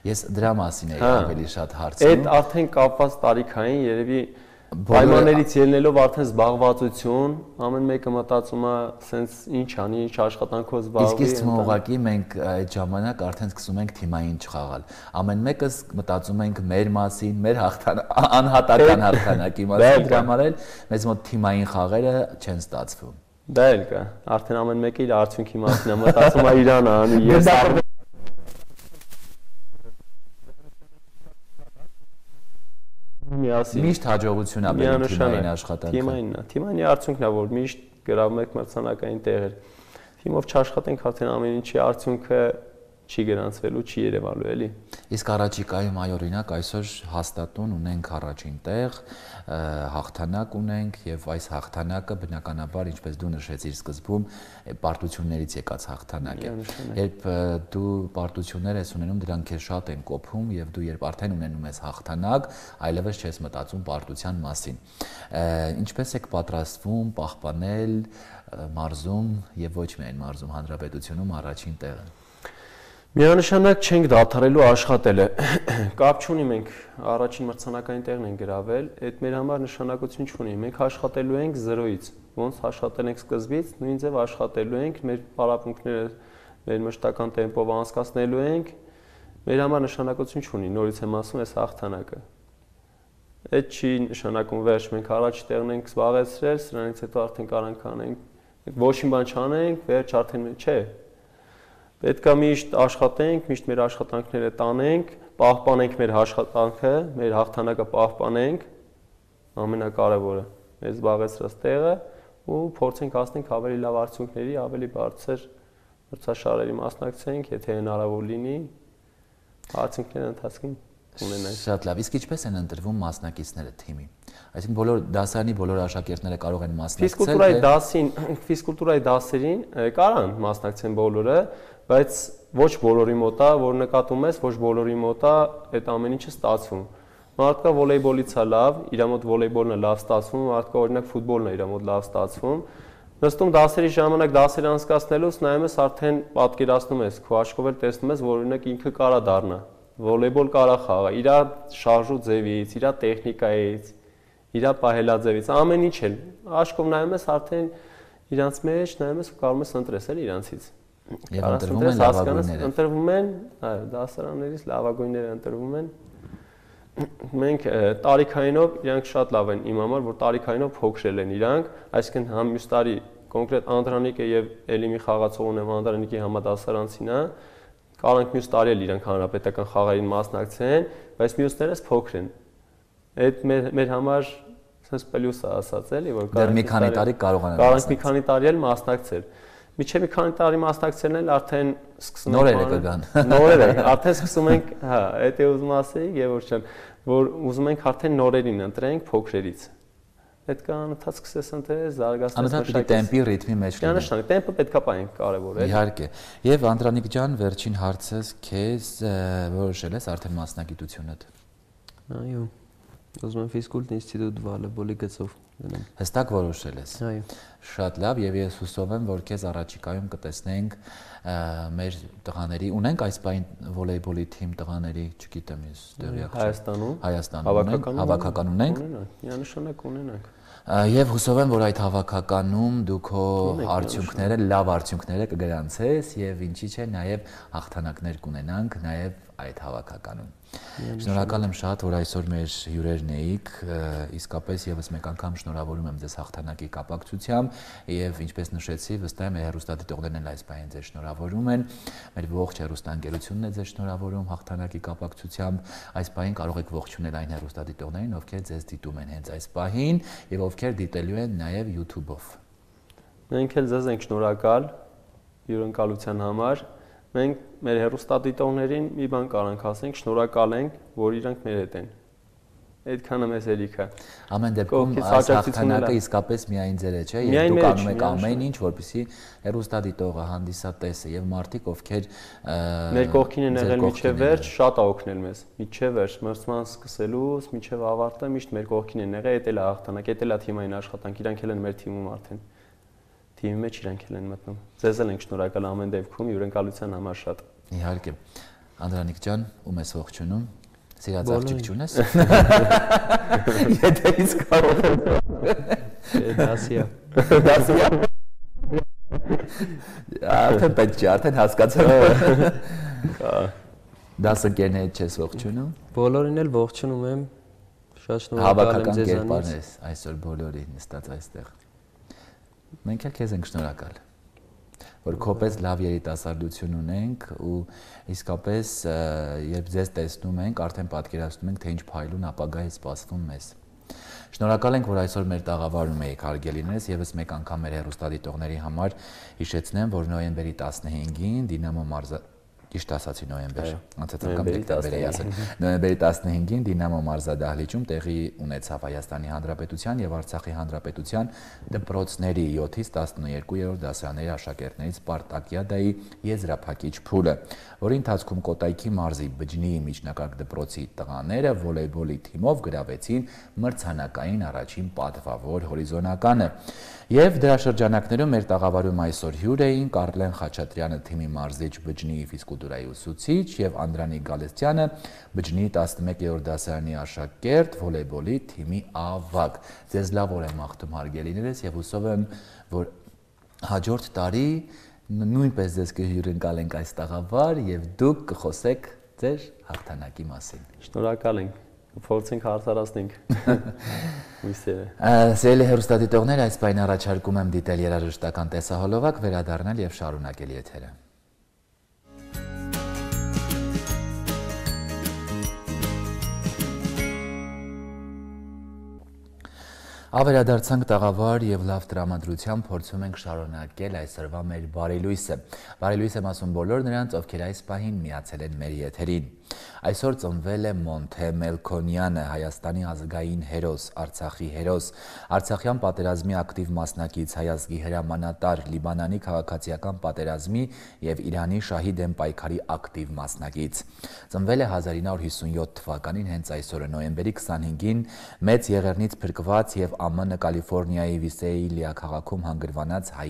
Ես դրա մասին էի ավելի շատ հարցնում։ Այդ արդեն կապված տարիքային երևի պայմաններից ելնելով արդեն զբաղվածություն, ամեն մեկը մտածում է սենց ինչ անի, ինչ աշխատանքով զբաղվի։ Իսկ իսկ ուղղակի մենք այդ ժամանակ արդեն սկսում ենք թիմային չխաղալ։ Ամեն մեկս մտածում ենք մեր մասին, մեր անհատական հաղթանակի մասին, դրա համար էլ մեզ մոտ թիմային խաղերը չեն ստացվում։ Դա էլ կա, արդեն ամեն մեկը իր արդյունքի մասին է մտածում է իրան անի, ես Միշտ հաջողություն է բերում թիմային աշխատանքը։ Թիմայինն է, թիմային արդյունքն է, որ միշտ գրավում եք մրցանակային տեղեր։ Թիմով չաշխատենք, արդեն ամեն ինչի արդյունքը չի գրանցվելու, չի երևալու էլի։ Իսկ առաջիկայում այ օրինակ այսօր հաստատուն ունենք առաջին տեղ, հաղթանակ ունենք եւ այս հաղթանակը բնականաբար ինչպես դու նշեցիր սկզբում պարտություններից եկած հաղթանակ է։ Երբ դու պարտություններ ես ունենում, դրանք քեզ շատ են կոփում եւ դու երբ արդեն ունենում ես հաղթանակ, այլևս չես մտածում պարտության մասին։ Ինչպես եք պատրաստվում պահպանել մարզում եւ ոչ միայն մարզում հանրապետությունում առաջին տեղը։ Միանշանակ չենք դադարելու աշխատելը։ Կապ չունի մենք առաջին մրցանակային տեղն ենք գրավել, այդ մեր համար նշանակություն չունի։ Մենք աշխատելու ենք զրոյից։ Ոնց աշխատել ենք սկզբից, նույն ձև աշխատելու ենք, մեր պարապմունքները մեր մշտական տեմպով անցկացնելու ենք։ Մեր համար նշանակություն չունի, նորից եմ ասում, այս հաղթանակը։ Այդ չի նշանակում վերջ, մենք առաջի տեղն ենք զբաղեցրել, սրանից հետո արդեն կարանք անենք։ Ոչինչ բան չանենք, վերջ արդեն չէ։ Պետք է միշտ աշխատենք, միշտ մեր աշխատանքները տանենք, պահպանենք մեր աշխատանքը, մեր հաղթանակը պահպանենք, ամենակարևորը, մեր զբաղեցրած տեղը ու փորձենք հասնենք ավելի լավ արդյունքների, ավելի բարձր մրցաշարերի մասնակցենք, եթե հնարավոր լինի, արդյունքները ընթացքին ունենանք։ Շատ լավ, իսկ ինչպես են ընտրվում մասնակիցները թիմի։ Այսինքն բոլոր դասարանի բոլոր աշակերտները կարող են մասնակցել։ Ֆիզկուլտուրայի դասին, ֆիզկուլտուրայի դասերին կարան մասնակցեն բոլորը, բայց ոչ բոլորի մոտ է, որ նկատում ես, ոչ բոլորի մոտ է այդ ամեն ինչը ստացվում։ Մարդկա վոլեյբոլից է լավ, իր մոտ վոլեյբոլն է լավ ստացվում, մարդկա օրինակ ֆուտբոլն է իր մոտ լավ ստացվում։ Նստում դասերի ժամանակ դասեր անցկացնելուց նայում ես արդեն պատկերացնում ես, քո աչքով էլ տեսնում ես, որ օրինակ ինքը կարա դառնա։ Վոլեյբոլ կարա խաղա, իր շարժու ձևից, իր տեխնիկայից, իր պահելաձևից, ամեն ինչ էլ։ Աչքով նայում ես արդեն իրանց մեջ, նայում ես ու կարող ես ընտրես էլ իրանցից։ Եվ ընտրվում են լավագույնները։ Ընտրվում են, այո, դասարաններից լավագույնները ընտրվում են։ Մենք տարիքայինով իրանք շատ լավ են իմ համար, որ տարիքայինով փոքրել են իրանք, այսինքն համ մյուս տարի կոնկրետ Անդրանիկը եւ էլի մի խաղացող ունեմ Անդրանիկի համադասարանցին է, կարանք մյուս տարի էլ իրանք հանրապետական խաղերին մասնակցեն, բայց մյուսներս փոքր են։ Այդ մեր մեր համար sense պլյուս է ասած էլի, որ կարանք մի քանի տարի կարողանան կարանք մի քանի տարի էլ մասնակցել։ Միջև մի քանի տարի մասնակցելն էլ արդեն սկսում ենք նորերը կգան։ Նորերը, արդեն սկսում ենք, հա, այդ է ուզում ասեի, Գևորգ ջան, որ ուզում ենք արդեն նորերին ընտրենք փոքրերից։ Պետք է անընդհատ սկսես ընտրել, զարգացնել մշակել տեմպի, ռիթմի մեջ լինել։ Միանշանակ, տեմպը պետք է պահենք, կարևոր է։ Իհարկե։ Եվ Անդրանիկ ջան, վերջին հարցս քեզ որոշել ես արդեն մասնագիտությունդ։ Այո։ Ուզում եմ ֆիզկուլտ ինստիտուտ վոլեյբոլի գծով գնամ։ Հստակ որոշել ես։ Այո։ Շատ լավ, եւ ես հուսով եմ, որ քեզ առաջիկայում կտեսնենք մեր տղաների, ունենք այս բան վոլեյբոլի թիմ տղաների, չգիտեմ, ես դեռ Հայաստանում։ Հայաստանում հավաքական ունենք։ Միանշանակ ունենանք։ Եվ հուսով եմ, որ այդ հավաքականում դու քո արդյունքները, լավ արդյունքները կգրանցես եւ ինչի՞ չէ, նաեւ հաղթանակներ կունենանք նաեւ այդ հավաքականում։ Շնորհակալ եմ շատ, որ այսօր մեր հյուրերն էիք, իսկապես եւս մեկ անգամ շնորհավորում եմ ձեզ հաղթանակի կապակցությամբ եւ ինչպես նշեցի, վստահ եմ հեռուստադիտողներն էլ այս բանին ձեզ շնորհավորում են, մեր ողջ հեռուստաընկերությունն է ձեզ շնորհավորում հաղթանակի կապակցությամբ, այս բանին կարող եք ողջունել այն հեռուստադիտողներին, ովքեր ձեզ դիտում են հենց այս պահին եւ ովքեր դիտելու են նաեւ YouTube-ով։ Մենք էլ ձեզ ենք շնորհակալ հյուրընկալության համար։ Մենք մեր հեռուստադիտողներին մի բան կարանք ասենք, շնորհակալ ենք, որ իրանք մեր հետ են։ Այդքանը մեզ ելիք է։ Ամեն դեպքում այս հաղթանակը իսկապես միայն ձեր է, չէ՞, եւ դուք անում եք ամեն ինչ, որպեսզի հեռուստադիտողը, հանդիսատեսը եւ մարդիկ, ովքեր մեր կողքին են եղել միջև վերջ, շատ ա օգնել մեզ։ Միջև վերջ, մրցման սկսելուց միջև ավարտը միշտ մեր կողքին են եղել, դա էլ է հաղթանակ, դա էլ է թիմային աշխատանք, իրանք էլ են մեր թիմում արդեն։ Թիմի մեջ իրանք էլ են մտնում։ Ձեզ էլ ենք շնորհակալ ամեն դեպքում հյուրընկալության համար շատ։ Իհարկե։ Անդրանիկ ջան, ում ես ողջունում։ Սիրած աղջիկ չունես։ Եթե իսկ կարող եմ։ Դասիա։ Դասիա։ Արդեն պետք չէ, արդեն հասկացա։ Դասընկերներից չես ողջունում։ Բոլորին էլ ողջունում եմ։ Շատ շնորհակալ եմ ձեզանից։ Հավաքական կերպարն ես այսօր բոլորի նստած այստեղ։ Մենք էլ քեզ ենք շնորհակալ, որ քոպես լավ երիտասարդություն ունենք ու իսկապես երբ ձեզ տեսնում ենք, արդեն պատկերացնում ենք, թե ինչ փայլուն ապագա է սպասվում մեզ։ Շնորհակալ ենք, որ այսօր մեր տաղավարում եք հարգելիներս, եւս մեկ անգամ մեր հեռուստադիտողների համար հիշեցնեմ, որ նոյեմբերի տասնհինգին Դինամո մարզա Ճիշտ ասացի նոյեմբեր, անցած անգամ դեկտեմբեր էի ասել։ Նոյեմբերի տասնհինգին Դինամո մարզադահլիճում տեղի ունեցավ Հայաստանի Հանրապետության եւ Արցախի Հանրապետության դպրոցների յոթից տասներկուերորդ դասարանների աշակերտներից Սպարտակիադայի եզրափակիչ փուլը, որի ընթացքում Կոտայքի մարզի Բջնիի միջնակարգ դպրոցի տղաները վոլեյբոլի թիմով գրավեցին մրցանակային առաջին պատվավոր հորիզոնականը։ Եվ դրա շրջանակներում մեր տաղավարում այսօր հյուր էին Կարլեն Խաչատրյանը թիմի մարզիչ Բջնիի ֆիզկուլտուրայի ուսուցիչ եւ Անդրանիկ Գալստյանը Բջնիի տասնմեկերորդ դասարանի աշակերտ վոլեյբոլի թիմի ավագ։ Ձեզ լավ օր եմ աղթում հարգելիներս եւ հուսով եմ, որ հաջորդ տարի նույնպես ձեզ կհյուրընկալենք այս տաղավար եւ դուք կխոսեք ձեր հաղթանակի մասին։ Շնորհակալ ենք։ Փորձենք հարցարացնենք։ Հույսերը։ Սիրելի հեռուստադիտողներ, այս պայն առաջարկում եմ դիտել երաժշտական տեսահոլովակ, վերադառնալ եւ շարունակել եթերը։ Ավերադարձանք տաղավար եւ լավ տրամադրությամբ փորձում ենք շարունակել այսօրվա մեր բարելույսը։ Բարելույս եմ ասում բոլոր նրանց, ովքեր այս պահին միացել են մեր եթերին։ Այսօր ծնվել է Մոնթե Մելքոնյանը, Հայաստանի ազգային հերոս, Արցախի հերոս, Արցախյան պատերազմի ակտիվ մասնակից, հայազգի հրամանատար, Լիբանանի քաղաքացիական պատերազմի եւ Իրանի շահի դեմ պայքարի ակտիվ մասնակից։ Ծնվել է հազար ինը հարյուր հիսունյոթ թվականին հենց այսօրը նոյեմբերի քսանհինգին մեծ եղեռնից փրկված եւ Ա Մ Ն Կալիֆոռնիայի Վիսեիլիա քաղաքում հանգրվանած հայ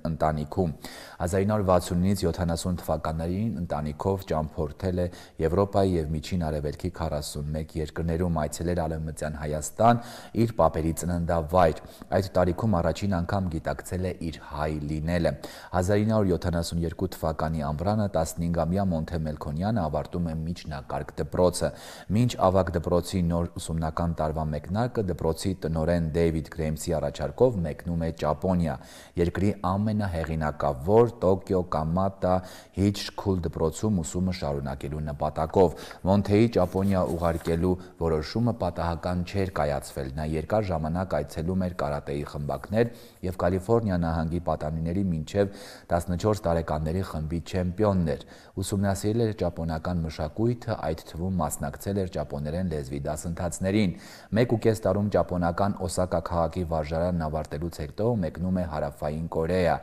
ընտանիքում։ հազար ինը հարյուր վաթսունինից յոթանասուն թվականներին ընտանիքով ճամփորդել է Եվրոպայի եւ Միջին Արևելքի քառասունմեկ երկրներում, այցելել Արևմտյան Հայաստան, իր պապերի ծննդավայր։ Այդ տարիքում առաջին անգամ գիտակցել է իր հայ լինելը։ հազար ինը հարյուր յոթանասունյոթ թվականի ամռանը տասնհինգամյա Մոնթե Մելքոնյանը ավարտում է միջնակարգ դպրոցը։ Մինչ ավագ դպրոցի նոր ուսումնական տարվա մեկնարկը դպրոցի տնօրեն Դեյվիդ Գրեյմսի առաջարկով մեկնում է Ճապոնիա, երկրի ամենահեղինակավոր Տոկիո Կամատա Հիչքուլ դպրոցում ուսումը շարունակելու նպատակով։ Մոնթեի Ճապոնիա ուղարկելու որոշումը պատահական չէր կայացվել։ Նա երկար ժամանակ այցելում էր կարատեի խմբակներ եւ Կալիֆոռնիա նահանգի պատանիների մինչեւ տասնչորս տարեկանների խմբի չեմպիոնն էր։ Ուսումնասիրել էր ճապոնական մշակույթը, այդ թվում մասնակցել էր ճապոներեն լեզվի դասընթացներին։ Մեկ ու կես տարում ճապոնական Օսակա քաղաքի վարժարանն ավարտելուց հետո մեկնում է Հարավային Կորեա,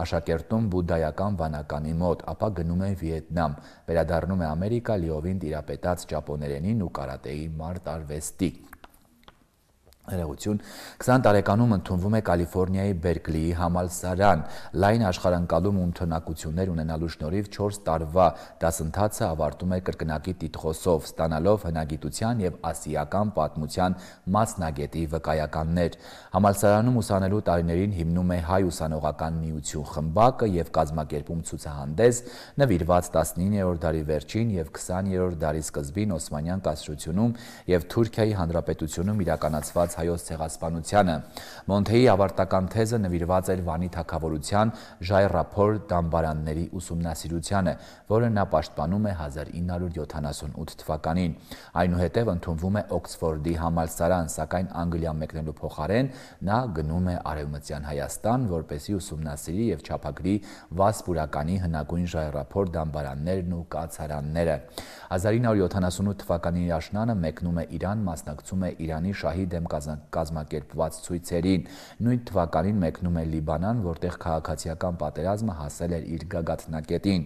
աշակերտում բուդդայական վանականի մոտ, ապա գնում է Վիետնամ, վերադառնում է Ամերիկա լիովին տիրապետած ճապոներենին ու կարատեի մարտարվեստի։ Հերեղություն քսան տարեկանում ընդունվում է Կալիֆոռնիայի Բերկլիի համալսարան, լայն աշխարհընկալում ու ընդունակություններ ունենալու շնորհիվ չորս տարվա դասընթացը ավարտում է կրկնակի տիտղոսով, ստանալով հնագիտության եւ ասիական պատմության մասնագետի վկայականներ։ Համալսարանում ուսանելու տարիներին հիմնում է Հայ ուսանողական միություն խմբակը եւ կազմակերպում ցուցահանդես, նվիրված տասնիններորդ դարի վերջին եւ քսաներորդ դարի սկզբին Օսմանյան կայսրությունում եւ Թուրքիայի Հանրապետությունում իրականացված հայոց ցեղասպանությանը։ Մոնթեի ավարտական թեզը նվիրված էր Վանի թագավորության ժայռափոր դամբարանների ուսումնասիրությանը, որը նա պաշտպանում է հազար ինը հարյուր յոթանասունութ թվականին։ Այնուհետև ընդունվում է Օքսֆորդի համալսարան, սակայն Անգլիա մեկնելու փոխարեն նա գնում է Արևմտյան Հայաստան, որպեսզի ուսումնասիրի եւ չափագրի Վասպուրականի հնագույն ժայռափոր դամբարաններն ու կացարանները։ հազար ինը հարյուր յոթանասունութ թվականին աշնանը մեկնում է Իրան, մասնակցում է Իրանի շահի դեմ կազմակերպված ցույցերին։ Նույն թվականին մեկնում է Լիբանան, որտեղ քաղաքացիական պատերազմը հասել էր իր գագաթնակետին։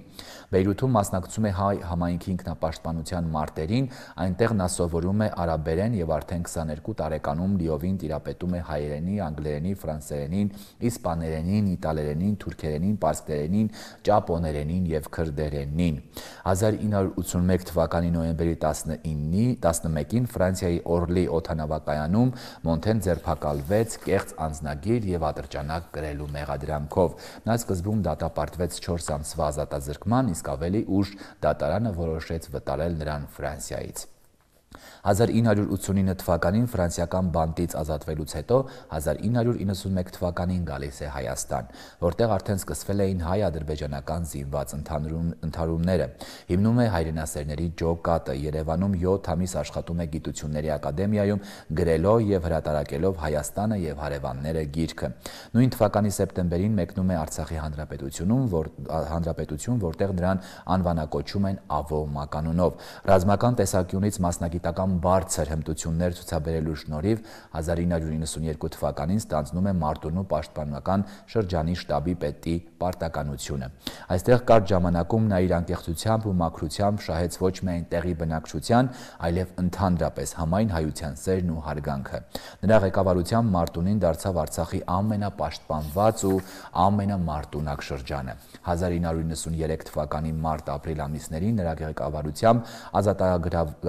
Բեյրութում մասնակցում է հայ համայնքի ինքնապաշտպանության մարտերին, այնտեղ նա սովորում է արաբերեն եւ արդեն քսաներկու տարեկանում լիովին տիրապետում է հայերենի, անգլերենի, ֆրանսերենին, իսպաներենին, իտալերենին, թուրքերենին, պարսկերենին, ճապոներենին եւ քրդերենին։ հազար ինը հարյուր ութսունմեկ թվականի նոյեմբերի տասնմեկին Ֆրանսիայի Օրլի օդանավակայանում Մոնթեն ձերբակալվեց կեղծ անձնագիր եւ ատրճանակ կրելու մեղադրանքով։ Նա սկզբում դատապարտվեց չորս ամսվա ազատազրկման, իսկ ավելի ուշ դատարանը որոշեց վտարել նրան Ֆրանսիայից։ հազար ինը հարյուր ութսունինը թվականին ֆրանսիական բանտից ազատվելուց հետո հազար ինը հարյուր իննսունմեկ թվականին գալիս է Հայաստան, որտեղ արդեն սկսվել էին հայ-ադրբեջանական զինված ընդհարումները։ Հիմնում է հայրենասերների ջոկատը, Երևանում յոթ ամիս աշխատում է Գիտությունների ակադեմիայում, գրելով եւ հրատարակելով Հայաստանը եւ հարևանները գիրքը։ Նույն թվականի սեպտեմբերին մեկնում է Արցախի հանրապետությունում, որ հանրապետություն, որտեղ նրան անվանակոչում են Ավո մականունով։ Ռազմական տեսանկյունից մասնագիտական բարձր հմտություններ ցուցաբերելու շնորհիվ հազար ինը հարյուր իննսունյերկու թվականին ստանձնում է Մարտունու պաշտպանական շրջանի շտաբի պետի պարտականությունը։ Այստեղ կարճ ժամանակում նա իր անկեղծությամբ ու մաքրությամբ շահեց ոչ միայն տեղի բնակչության, այլև ընդհանրապես համայն հայության սերն ու հարգանքը։ Նրա ղեկավարությամբ Մարտունին դարձավ Արցախի ամենապաշտպանված ու ամենամարտունակ շրջանը։ հազար ինը հարյուր իննսուներեք թվականի մարտ-ապրիլ ամիսներին նրա ղեկավարությամբ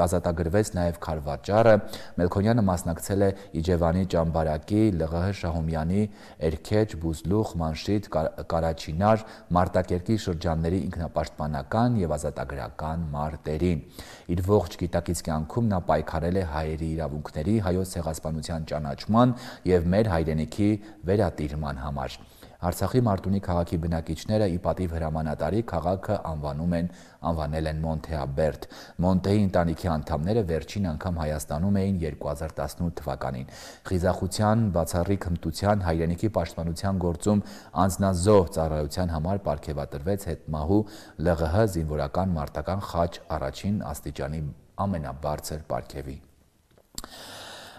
ազատագրվեց նաև Քարվաճառը, Մելքոնյանը մասնակցել է Իջևանի Ճամբարակի, ԼՂՀ Շահումյանի, Էրքեջ, Բուզլուխ, Մանշիտ, Կարաչինար, Մարտակերտի շրջանների ինքնապաշտպանական եւ ազատագրական մարտերին։ Իր ողջ գիտակից կյանքում նա պայքարել է հայերի իրավունքների, հայոց ցեղասպանության ճանաչման եւ մեր հայրենիքի վերատիրման համար։ Արցախի Մարտունի քաղաքի բնակիչները ի պատիվ հրամանատարի քաղաքը անվանում են անվանել են Մոնթեաբերդ։ Մոնտեի ընտանիքի անդամները վերջին անգամ Հայաստանում էին երկու հազար տասնութ թվականին։ Խիզախության, բացառիկ հմտության, հայրենիքի պաշտպանության գործում անձնազոհ ծառայության համար պարգևատրվեց հետմահու ԼՂՀ զինվորական մարտական խաչ առաջին աստիճանի ամենաբարձր պարգևի։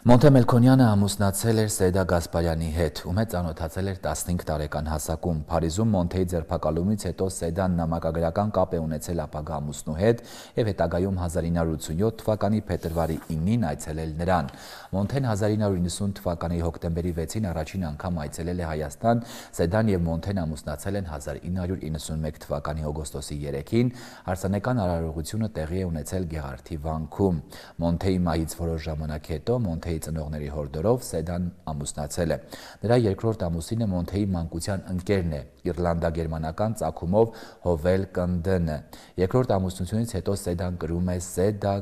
Մոնթե Մելքոնյանը ամուսնացել էր Սեյդա Գասպարյանի հետ, ում հետ ծանոթացել էր տասնհինգ տարեկան հասակում։ Փարիզում Մոնթեի ձերբակալումից հետո Սեյդան նամակագրական կապ է ունեցել ապագա ամուսնու հետ եւ հետագայում հազար ինը հարյուր ութսունյոթ թվականի փետրվարի ինին այցելել նրան։ Մոնթեն հազար ինը հարյուր իննսուն թվականի հոկտեմբերի վեցին առաջին անգամ այցելել է Հայաստան։ Սեյդան եւ Մոնթեն ամուսնացել են հազար ինը հարյուր իննսունմեկ թվականի օգոստոսի երեքին։ Հարսանեկան արարողությունը տեղի է ունեցել Գեղարդի վանքում։ Մոնթեի մահից որոշ ժամանակ հետո Մոնթեի ծնողների հորդորով Սեյդան ամուսնացել է։ Նրա երկրորդ ամուսինը Մոնթեի մանկության ընկերն է, իռլանդա-գերմանական ծագումով Հովել Կնդենը։ Երկրորդ ամուսնությունից հետո Սեյդան կրում է Սեդա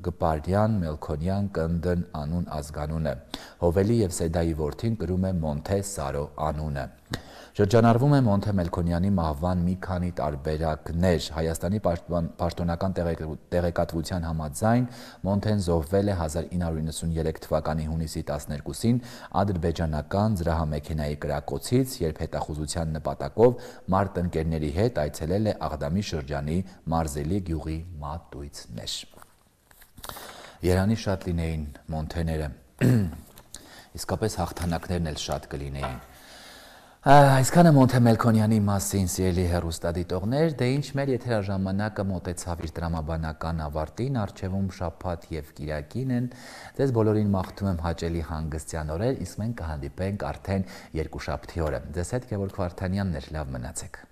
Գպարյան Մելքոնյան Կնդն անուն ազգանունը։ Հովելի եւ Սեդայի որդին կրում է Մոնթե Սարո անունը։ Շրջանառվում է Մոնթե Մելքոնյանի մահվան մի քանի տարբերակներ։ Հայաստանի պաշտոնական տեղեկատվության համաձայն Մոնթեն զոհվել է հազար ինը հարյուր իննսուներեք թվականի հունիսի տասներկուսին ադրբեջանական զրահամեքենայի կրակոցից, երբ հետախուզության նպատակով մարտնկերների հետ այցելել է Աղդամի շրջանի Մարզելի գյուղի մատույցներ։ Երանի շատ լինեին Մոնթեները, իսկապես հաղթանակներն էլ շատ կլինեին։ Այսքանը Մոնթե Մելքոնյանի մասին, սիրելի հեռուստադիտողներ, դե ինչ մեր եթերաժամանակը մոտեցավ իր տրամաբանական ավարտին, առջևում շաբաթ եւ կիրակին են։ Ձեզ բոլորին մաղթում եմ հաճելի հանգստյան օրեր, իսկ մենք կհանդիպենք արդեն երկուշաբթի օրը։ Ձեզ հետ Գևորգ Վարդանյանն էր, լավ մնացեք։